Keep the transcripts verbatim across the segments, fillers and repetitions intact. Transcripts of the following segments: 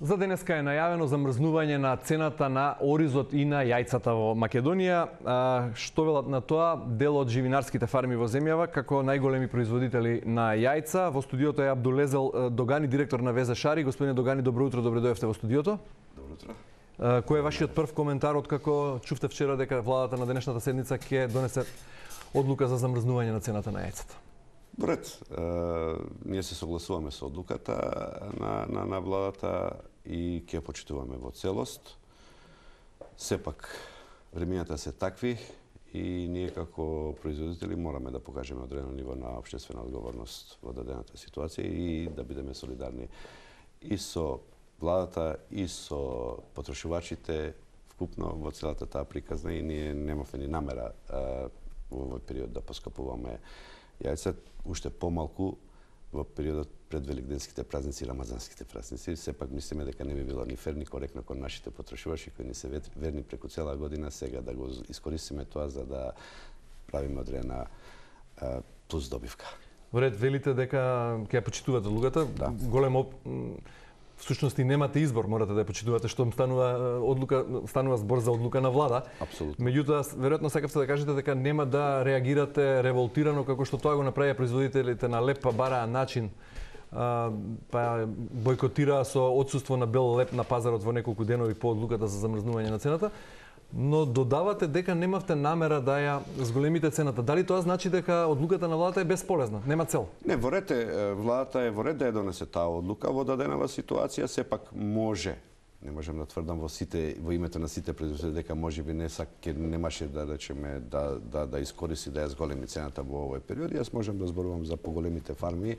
За денеска е најавено замрзнување на цената на оризот и на јајцата во Македонија. Што велат на тоа дел од живинарските фарми во земјава како најголеми производители на јајца? Во студиото е Абдулезел Догани, директор на Веза Шари. Господине Догани, добро утро, добре дојавте во студиото. Добро утро. Кој е вашиот прв коментар од како чувте вчера дека владата на денешната седница ќе донесе одлука за замрзнување на цената на јајцата? Бред, ние се согласуваме со одлуката на, на, на владата и ќе почитуваме во целост. Сепак, времењата се такви и ние како производители мораме да покажеме одредено ниво на општествена одговорност во дадената ситуација и да бидеме солидарни и со владата и со потрошувачите вкупно во целата таа приказна и ние немавме ни намера а, во овој период да поскапуваме јајца, уште помалку во периодот пред великденските празници и рамазанските празници. Сепак мислиме дека не би било ни фер ни коректно кон нашите потрошувачи кои ни се верни преку цела година сега да го искористиме тоа за да правиме одредена плюс добивка. Во ред, велите дека ќе ја почитувате одлуката. Да. Големо всушност и немате избор, морате да ја почитувате што станува одлука, станува збор за одлука на влада. Апсолутно. Меѓутоа, веројатно сакавте да кажете дека нема да реагирате револтирано како што тоа го направија производителите на леп, па бараа начин, а, па бойкотираа со отсуство на бел леп на пазарот во неколку денови по одлуката за замрзнување на цената. Но додавате дека немавте намера да ја зголемите цената. Дали тоа значи дека одлуката на владата е безполезна, нема цел? Не, во ред е, владата е во ред да ја донесе таа одлука во даденава ситуација, сепак може, не можам да тврдам во сите во името на сите производители дека можеби не сак ке немаше да речеме да да да искористи да ја зголеми цената во овој период. Јас можам да зборувам за поголемите фарми е,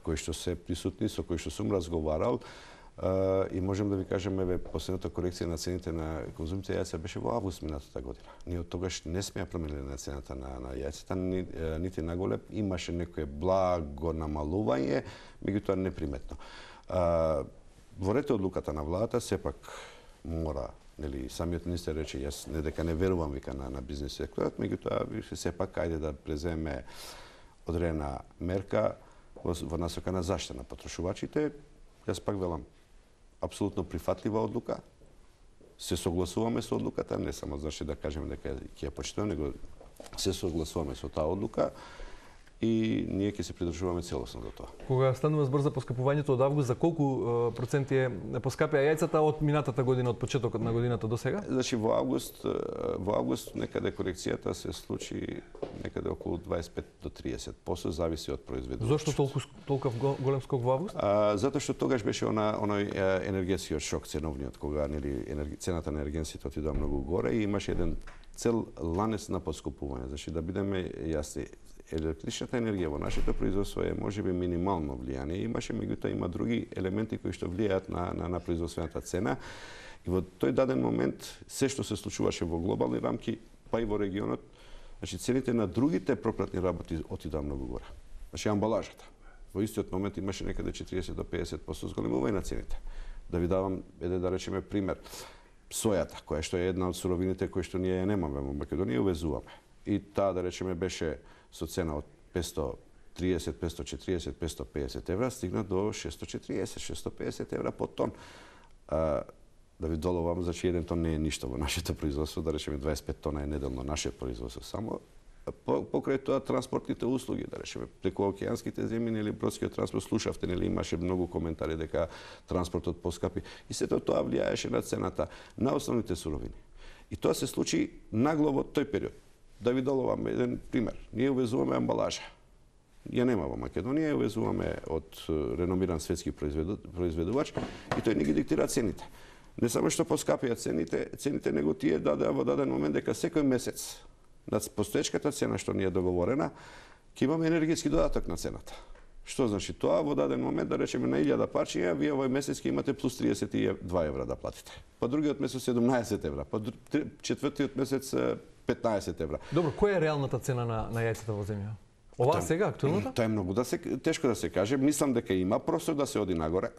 кои што се присутни, со кои што сум разговарал. Uh, и можем да ви кажеме, еве, последната корекција на цените на конзумција јајца беше во август минатата година. Ние од тогаш не сме ја промениле на цената на, на јајцата, ни, нити наголеп, имаше некое благо намалување, меѓутоа неприметно. Uh, во ред одлуката на владата, сепак мора, нели, самиот министер рече, јас не дека не верувам вика на, на бизнес секторот, меѓутоа сепак ајде да преземе одредена мерка во, во насока на заштита на потрошувачите. Јас пак велам, апсолутно прифатлива одлука. Се согласуваме со одлуката, не само значи да кажеме дека ќе ја почитуваме, него се согласуваме со таа одлука и ние ќе се придржуваме целосно до тоа. Кога станува збор за поскапувањето од август, за колку проценти е поскапија јајцата од минатата година, од почетокот на годината до сега? Значи во август, во август некаде корекцијата се случи некаде околу дваесет и пет до триесет проценти, зависи од производителот. Зошто толку толков голем скок во август? А, затоа што тогаш беше она оној енергетскиот шок ценовниот, кога нели енерги, цената на енергенсите отидоа многу горе и имаше еден цел ланец на поскупување. Значи да бидеме јасни, електричната енергија во нашето производство е можеби минимално влијание. Имаше, меѓутоа има други елементи кои што влијаат на, на, на производствената цена. И во тој даден момент, се што се случуваше во глобални рамки, па и во регионот, значи цените на другите пропратни работи отидоа многу горе. Значи амбалажата. Во истиот момент имаше некаде четириесет до педесет проценти зголемување на цените. Да ви давам, еде да речеме пример, сојата, која што е една од суровините кои што ние ја немаме во Македонија, увезуваме. И таа да речеме беше со цена од петстотини и триесет, петстотини и четириесет, петстотини и педесет евра, стигна до шестстотини и четириесет, шестстотини и педесет евра по тон. А, да ви доловам, значи еден тон не е ништо во нашето производство, да речеме дваесет и пет тона е неделно наше производство. Само по, покрај тоа транспортните услуги, да речеме, преку океанските земји или бродскиот транспорт, слушавте, нели имаше многу коментари дека транспортот поскапи и сето тоа влијаеше на цената на основните суровини. И тоа се случи нагло во тој период. Да ви доловам еден пример. Ние увезуваме амбалажа. Ја нема во Македонија, увезуваме од реномиран светски произведувач и тој не ги диктира цените. Не само што поскапија цените, цените него тие дадеа во даден момент дека секој месец над постоечката цена што ни е договорена, ќе имаме енергетски додаток на цената. Што значи тоа? Во даден момент, да речеме на илјада парчиња, вие овој месец ќе имате плюс триесет и два евра да платите. Па другиот месец седумнаесет евра, па четвртиот месец петнаесет евра. Добро, која е реалната цена на, на јајцата во земја? Ова сега, актуелната? Тоа е многу да се, тешко да се каже. Мислам дека има простор да се оди нагоре.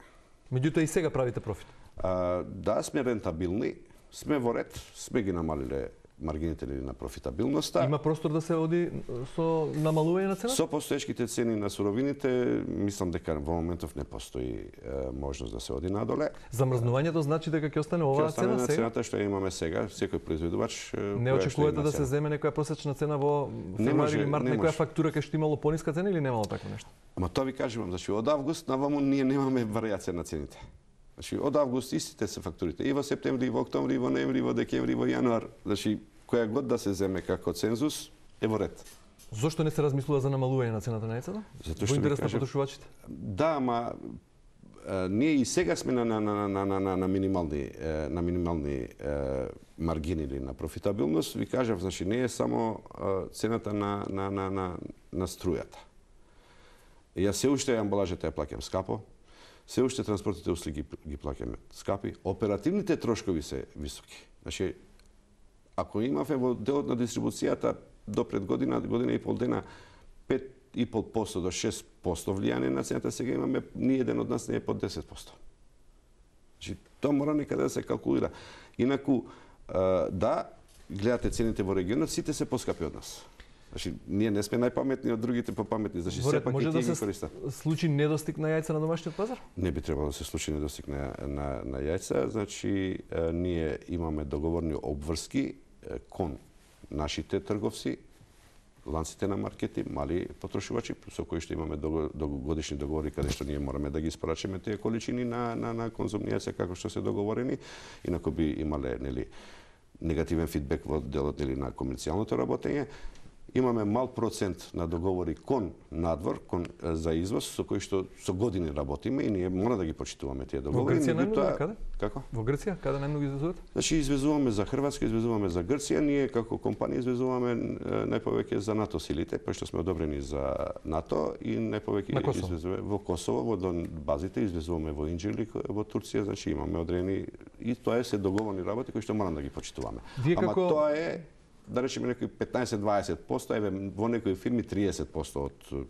Меѓутоа и сега правите профит? А, да, сме рентабилни, сме во ред, сме ги намалиле маргините или на профитабилноста. Има простор да се оди со намалување на цената? Со постоечките цени на суровините, мислам дека во моментов не постои е, можност да се оди надоле. Замрзнувањето значи дека ќе остане оваа Ќе остане цена на сега? цената што ја имаме сега, секој производувач. Не очекувате да се земе некоја просечна цена во февруари или март, некоја фактура кај што имало пониска цена или немало такво нешто? Ама тоа ви кажувам, значи од август наваму ние немаме варијација на цените. Значи од август истите се фактурите и во септември, и во октомври, и во ноември, и во декември, и во јануар. Значи која год да се земе како цензус е во ред. Зошто не се размислува за намалување на цената на яйцата? Затоа Во што интерес на кажам, потрошувачите? Да, ама е, ние и сега сме на на на на на на, на минимални е, на минимални е, маргини или на профитабилност. Ви кажав, значи не е само е, цената на на на на на струјата. Ја се уште амбалажата ја плаќам скапо. Се уште транспортните услуги ги плаќаме скапи, оперативните трошкови се високи. Значи, ако имавме во делот на дистрибуцијата до пред година, година и пол дена пет и пол проценти до шест проценти влијание на цената, сега имаме ни еден од нас не е под десет проценти. Значи, тоа мора некаде да се калкулира. Инаку, да, гледате цените во регионот, сите се поскапи од нас. Значи, ние не сме најпаметни од другите попаметни, значи сепак и тие ги користат. Може да се случи недостиг на јајца на домашниот пазар? Не би требало да се случи недостиг на, на, на јајца, значи е, ние имаме договорни обврски е, кон нашите трговци, ланците на маркети, мали потрошувачи, со кои што имаме годишни договори каде што ние мораме да ги испорачаме тие количини на, на, на конзумни јајца како што се договорени, инаку би имале нели, негативен фидбек во делот нели, на комерцијалното работење. Имаме мал процент на договори кон надвор, кон за извоз, со кои што со години работиме и ние мора да ги почитуваме тие договори. Во Грција најмногу каде? Како? Во Грција каде најмногу извезувате? Значи извезуваме за Хрватска, извезуваме за Грција, ние како компанија извезуваме најповеќе за НАТО силите, пошто сме одобрени за НАТО и најповеќе извезуваме во Косово, во базите извезуваме во Инџирлик, во Турција, значи имаме одредени и тоа е се договорни работи кои што мораме да ги почитуваме. Вие Ама како... тоа е да речеме некои петнаесет до дваесет проценти, еве во некои фирми триесет проценти од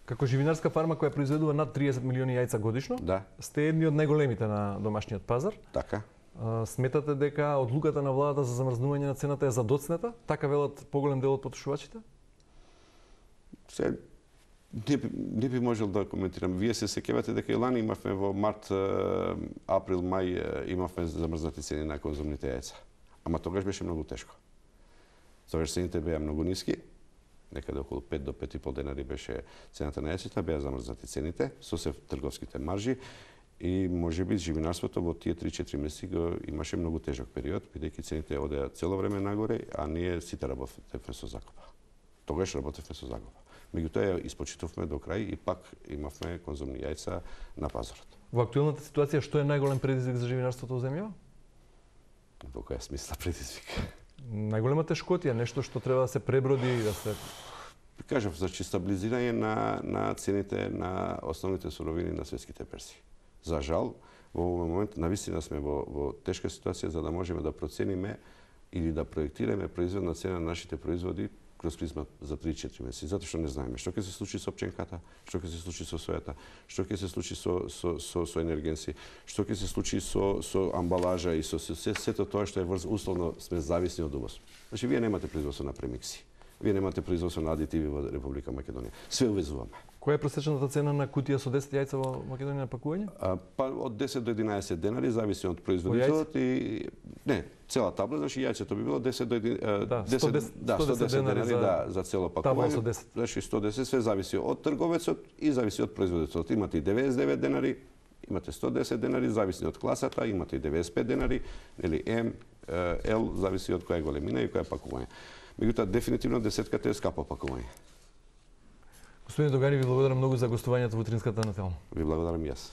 Како живинарска фарма која произведува над триесет милиони јајца годишно, да. Сте едни од најголемите на домашниот пазар. Така. А, сметате дека одлуката на владата за замрзнување на цената е задоцнета? Така велат поголем дел од потрошувачите? Се не би, не би можел да коментирам. Вие се сеќавате дека и лани имавме во март, април, мај имавме замрзнати цени на конзумните јајца. Ама тогаш беше многу тешко. Тогаш цените беа многу ниски, некаде околу пет до пет и пол денари беше цената на јајцата, беа замрзнати цените со се трговските маржи и можеби живинарството во тие три-четири месеци го имаше многу тежок период, бидејќи цените одеа цело време нагоре, а ние сите работевме со закупа. Тогаш работевме со закупа. Меѓутоа ја испочитувме до крај и пак имавме конзумни јајца на пазарот. Во актуелната ситуација што е најголем предизвик за живинарството во земјава? Во која смисла предизвик? Најголема тешкотија, нешто што треба да се преброди и да се... Кажав, значи стабилизирање на, на цените на основните суровини на светските берзи. За жал, во овој момент навистина сме во, во тешка ситуација за да можеме да процениме или да проектираме производна цена на нашите производи кроз призма за три-четири месеци, затоа што не знаеме што ќе се случи со пченката, што ќе се случи со сојата, што ќе се случи со со со, со енергенси, што ќе се случи со со амбалажа и со се сето тоа што е врз условно сме зависни од увоз. Значи вие немате производство на премикси. Вие немате производство на адитиви во Република Македонија. Све увезуваме. Која е просечната цена на кутија со десет јајца во Македонија на пакување? А, па од десет до единаесет денари, зависи од производителот и не, цела табла, значи јајцето би било десет до единаесет, да, десет, сто десет, да, сто десет денари за, да, за цело пакување. Со десет. Значи сто десет, све зависи од трговецот и зависи од производителот. Имате и деветдесет и девет денари, имате сто десет денари, зависи од класата, имате и деветдесет и пет денари, нели М, Л, зависи од која големина и која пакување. Меѓутоа, дефинитивно десетката е скапо пакување. Господин Догани, ви благодарам многу за гостувањето во утринската на Телмо. Ви благодарам и јас.